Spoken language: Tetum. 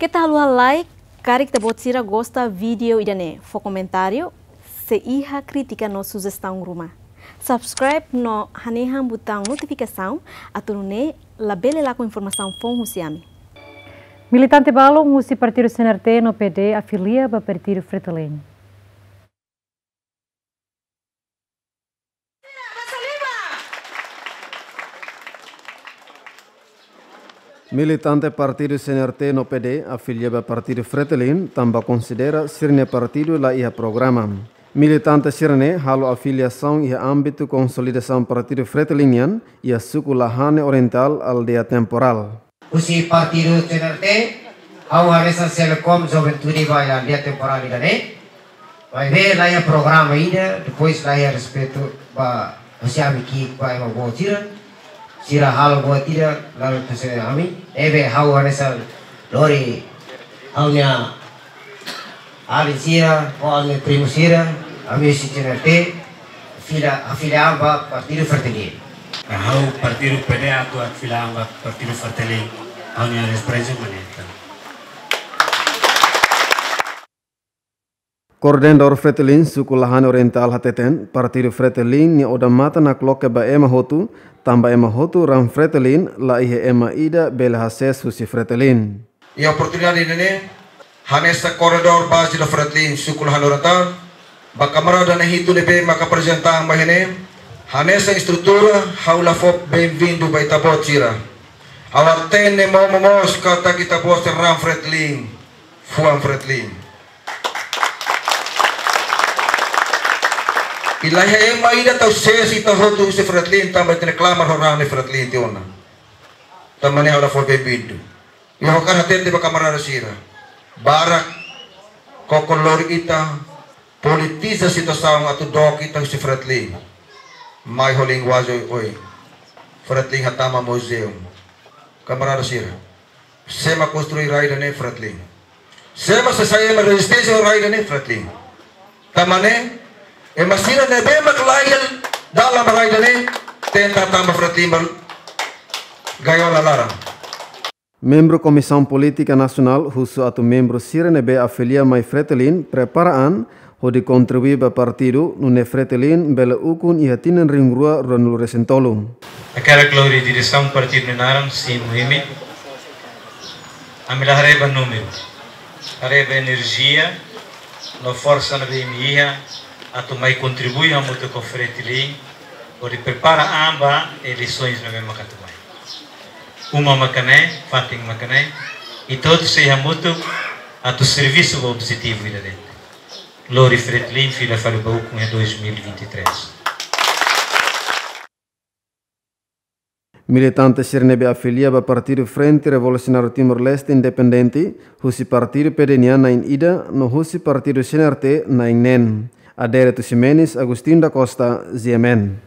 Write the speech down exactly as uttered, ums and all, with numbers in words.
Keta haluha like, karik ita-boot sira gosta vídeo ida-ne'e, fó komentáriu, se iha krítika no sujestaun ruma. Subscribe no hanehan butaun notifikasaun, atu nune'e labele lakon informasaun foun husi ami. Militante balun husi partidu C N R T no P D afilia ba partidu Fretilin. Militante partidu C N R T no P D afilia ba partidu Fretilin, tanba konsidera sira-nia partidu la iha programa. Militante sira-ne'e halo afiliasaun iha ámbitu konsolidasaun partidu Fretilin nian, iha suku Lahane Orientál, aldeia Temporal. Husi partidu C N R T, ha'u hanesan Selekom Juventude ba iha aldeia Temporal ida-ne'e. Maibé la iha programa ida, depois la iha respeitu ba husi ami ki'ik ba ema boot sira. Sira halo buat ida, lalu husi ami. Ne'ebé ha'u hanesan lori ha'u-nia alin sira, ho ami primu sira, ami husi C N R T, afilia, afilia ba partidu Fretilin. Ha'u partidu P D atu afilia ba partidu Fretilin, ha'u-nia reprezentante. Koordenadór Fretilin suku Lahane Orientál hateten, partidu Fretilin nia odamatan nakloke ba ema hotu, tanba ema hotu raan Fretilin, la iha ema ida bele hasees husi Fretilin. Iha oportunidade ida-ne'e, hanesan koordenadór baze da Fretilin suku Lahane Orientál, ba kamarada na'in hitu ne'ebé maka aprezenta an ba iha ne'e, hanesan estrutura, ha'u la fó benvindu ba ita-boot sira. Ha'u hatene momo mós katak ita-boot sira raan Fretilin, fuan Fretilin. I la iha ema ida tau sees ita hotu husi Fretilin, tanba ita-nia klamar ho raan Fretilin tiha ona. Tanba ne'e ha'u la fó benvindu. I ha'u hakarak hatete ba kamarada sira. Barak koko lori ita, politiza situasaun atu dook ita husi Fretilin. Mai ho linguajen oioin. Fretilin hatama muzeu. Kamarada sira. Sé mak konstrui rai ida-ne'e? Fretilin. Sé mak sei sai ema rezisténsia rai ida-ne'e? Fretilin. Tanba ne'e, ema sira ne'ebé mak laiha dalan ba rai ida-ne'e, tenta hatama Fretilin ba gaiola laran. Membru Komisaun Polítika Nasionál husu atu membru sira ne'ebé afilia mai Fretilin prepara an hodi kontribui ba partidu, nune'e Fretilin bele ukun iha tinan rihun rua ruanulu resin tolu. Hakarak lori diresaun partidu nia naran simu imi. Ami la haree ba númeru, haree ba enerjia no forsa ne'ebé imi iha atu mai kontribui hamutuk ho Fretilin hodi prepara an ba eleisoens ne'ebé maka atu mai. Uma maka ne'e, fatin maka ne'e, i to'o sei hamutuk atu servisu ba objetivu ida-ne'e. Lori Fretilin fila fali ba ukun iha dois mil e vinte e três. Militante sira ne'ebé afilia ba partidu Frente Revolusionáriu Timor-Leste Independente, husi partidu P D nian na'in ida, no husi partidu C N R T na'in neen. Adérito Ximenes, Agostinho da Costa, G M N.